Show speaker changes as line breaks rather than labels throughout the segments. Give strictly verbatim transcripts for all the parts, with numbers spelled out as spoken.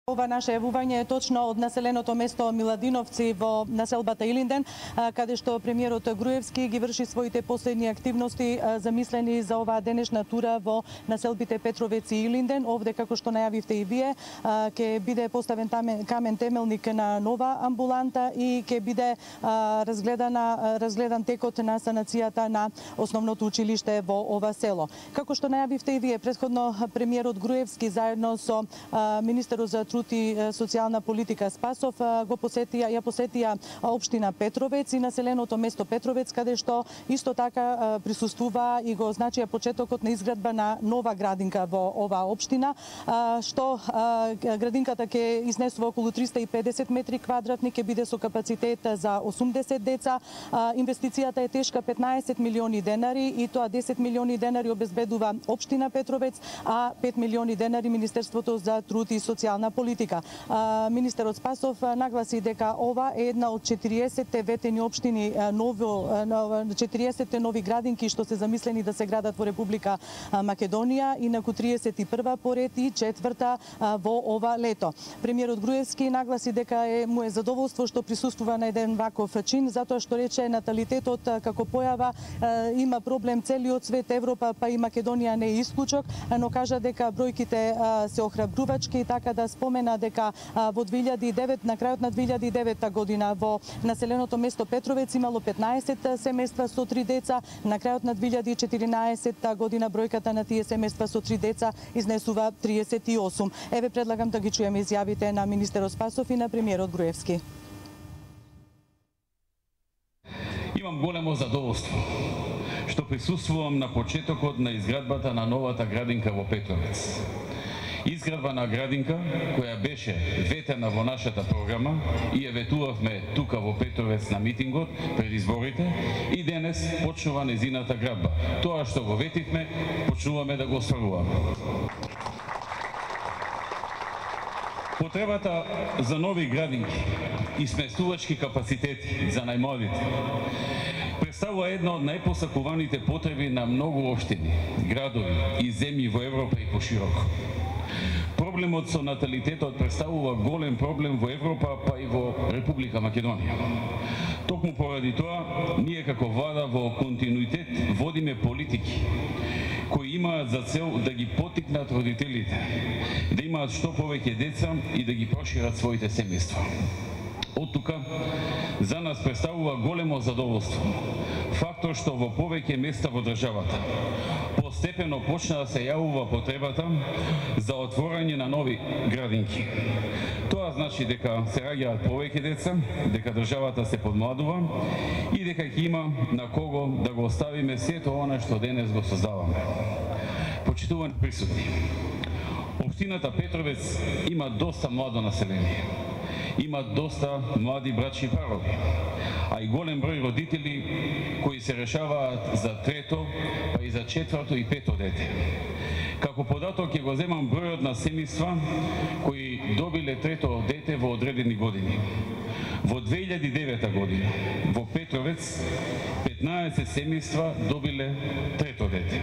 Ова наше јавување е точно од населеното место Миладиновци во населбата Илинден, каде што премиерот Груевски ги врши своите последни активности замислени за оваа денешна тура во населбите Петровец и Илинден. Овде, како што најавивте и вие, ќе биде поставен камен темелник на нова амбуланта и ќе биде разгледана разгледан текот на санацијата на основното училиште во ова село. Како што најавивте и вие, претходно премиерот Груевски заедно со министерот за труд и социјална политика Спасов го посетија, ја посетија општина Петровец и населеното место Петровец, каде што исто така присуствува и го означија почетокот на изградба на нова градинка во оваа општина, што градинката ќе изнесува околу триста и педесет метри квадратни, ќе биде со капацитет за осумдесет деца. Инвестицијата е тешка петнаесет милиони денари и тоа десет милиони денари обезбедува општина Петровец, а пет милиони денари Министерството за труд и социјална политика. Министерот Спасов нагласи дека ова е една од четириесетте ветени општини, ново четириесетте нови градинки што се замислени да се градат во Република Македонија, инаку триесет и прва поред и четврта во ова лето. Премиерот Груевски нагласи дека е му е задоволство што присуствува на еден ваков чин, затоа што рече наталитетот како појава има проблем целиот свет, Европа па и Македонија не е исклучок, но кажа дека бројките се охрабрувачки, така да спомена дека во две илјади и девета, на крајот на две илјади и девета година во населеното место Петровец имало петнаесет семејства со три деца, на крајот на две илјади и четиринаесетта година бројката на тие семејства со три деца изнесува триесет и осум. Еве предлагам да ги чуеме изјавите на министерот Спасов и на премиерот Груевски.
Имам големо задоволство што присуствувам на почетокот на изградбата на новата градинка во Петровец. Изградба на градинка која беше ветена во нашата програма и ја ветувавме тука во Петровец на митингот пред изборите и денес почнува незината градба. Тоа што го ветивме, почнуваме да го остваруваме. Потребата за нови градинки и сместувачки капацитети за најмладите представува една од најпосакуваните потреби на многу општини, градови и земји во Европа и пошироко. Проблемот со наталитетот представува голем проблем во Европа, па и во Република Македонија. Токму поради тоа, ние како влада во континуитет водиме политики кои имаат за цел да ги поттикнат родителите, да имаат што повеќе деца и да ги прошират своите семејства. Од тука, за нас представува големо задоволство фактор што во повеќе места во државата постепено почна да се јавува потребата за отворање на нови градинки. Тоа значи дека се раѓаат повеќе деца, дека државата се подмладува и дека ќе има на кого да го оставиме сето она што денес го создаваме. Почитувани присутни, општината Петровец има доста младо население. Има доста млади брачни парови, а и голем број родители кои се решаваат за трето, па и за четврто и пето дете. Како податок ќе го земам бројот на семејства кои добиле трето дете во одредени години. Во две илјади и девета година во Петровец петнаесет семејства добиле трето дете,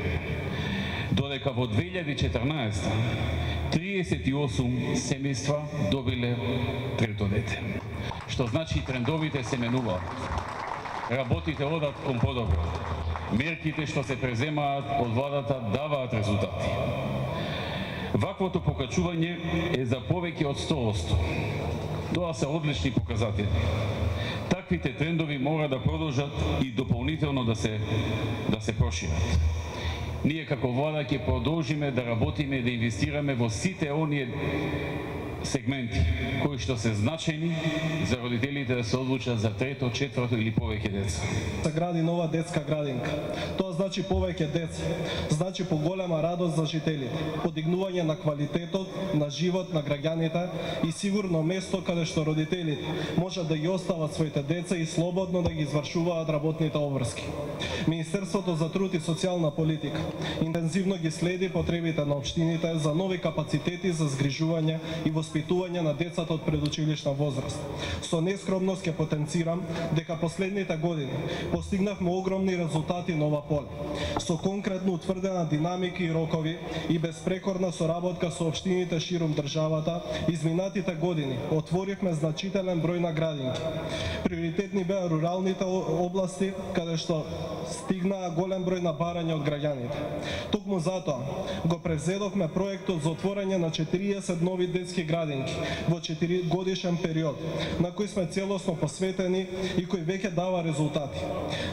додека во две илјади и четрнаесетта триесет и осум семејства добиле трето дете. Што значи трендовите се менуваат. Работите одат кон подобро. Мерките што се преземаат од владата даваат резултати. Ваквото покачување е за повеќе од сто одсто. Тоа се одлични показатели. Таквите трендови мора да продолжат и дополнително да се да се прошират. Ние како влада ќе продолжиме да работиме и да инвестираме во сите оние сегменти кои што се значајни за родителите да се одлучат за трето, четврто или повеќе деца.
Се гради нова детска градинка. Тоа значи повеќе деца, значи поголема радост за жителите, подигнување на квалитетот на живот на граѓаните и сигурно место каде што родителите можат да ги остават своите деца и слободно да ги извршуваат работните обврски. Министерството за труд и социјална политика интензивно ги следи потребите на општините за нови капацитети за згрижување и воспитување воспитување на децата од предучилишна возраст. Со нескромност ќе потенцирам дека последните години постигнавме огромни резултати на ова поле. Со конкретно утврдена динамика и рокови и безпрекорна соработка со општините ширум државата, изминатите години отворивме значителен број на градинки. Приоритетни беа руралните области, каде што стигнаа голем број на барања од граѓаните. Токму затоа го превзедовме проектот за отворање на четириесет нови детски градинки во четиригодишен период, на кој сме целосно посветени и кој веќе дава резултати.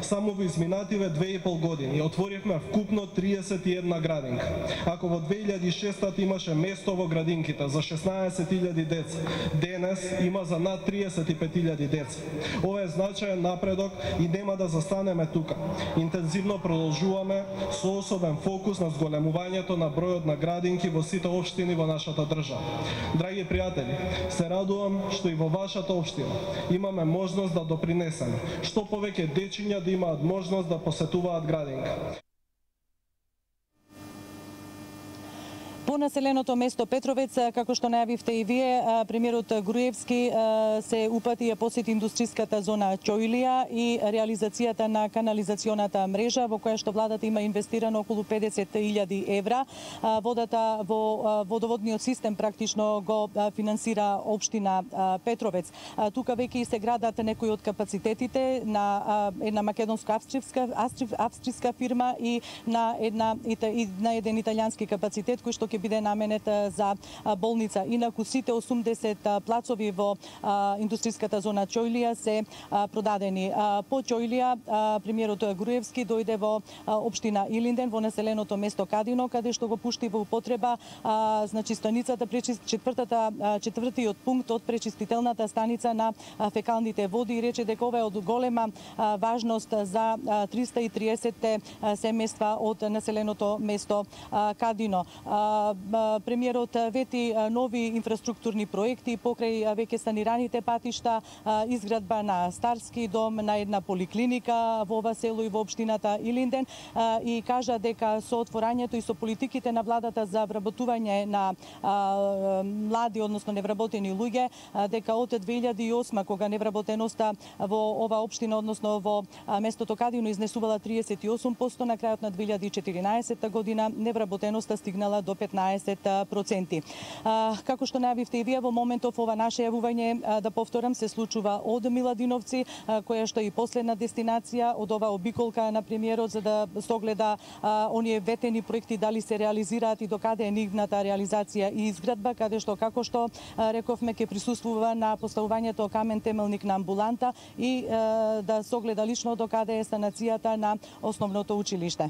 Само во изминативе две и пол години отворивме вкупно триесет и една градинка. Ако во две илјади и шеста имаше место во градинките за шеснаесет илјади деца, денес има за над триесет и пет илјади деца. Ова е значаен напредок и нема да застанеме тука. Интензивно продолжуваме со особен фокус на зголемувањето на бројот на градинки во сите општини во нашата држава. Драги пријатели, се радувам што и во вашата општина имаме можност да допринесеме, што повеќе дечиња да имаат можност да посетуваат градинка.
По населеното место Петровец, како што најавивте и вие, премиерот Груевски се упати ја посети индустријската зона Ќојлија и реализацијата на канализационата мрежа во која што владата има инвестирано околу педесет илјади евра. Водата во водоводниот систем практично го финансира општина Петровец. Тука веќе се градат некои од капацитетите на една македонско-австријска австријска фирма и на една и на еден италијански капацитет кој што ќе биде наменет за болница. Инаку сите осумдесет плацови во индустријската зона Ќојлија се продадени. По Ќојлија премиерот Груевски дојде во општина Илинден, во населеното место Кадино, каде што го пушти во употреба значи станицата четвртата четвртиот пункт од пречистителната станица на фекалните води и рече дека ова е од голема важност за триста и триесет семејства од населеното место Кадино. Премиерот вети нови инфраструктурни проекти покрај веќе санираните патишта, изградба на старски дом, на една поликлиника во ова село и во општината Илинден и кажа дека со отворањето и со политиките на владата за вработување на млади, односно невработени луѓе, дека од две илјади и осма кога невработеноста во ова општина, односно во местото Кадино изнесувала триесет и осум проценти, на крајот на две илјади и четиринаесетта година невработеноста стигнала до петнаесет проценти. Како што најавивте и вие, во моментов ова наше јавување, да повторам, се случува од Миладиновци, која што е и последна дестинација од ова обиколка на премиерот за да согледа оние ветени проекти дали се реализираат и докаде е нивната реализација и изградба, каде што како што рековме ќе присуствува на поставувањето камен темелник на амбуланта и да согледа лично докаде е санацијата на основното училиште.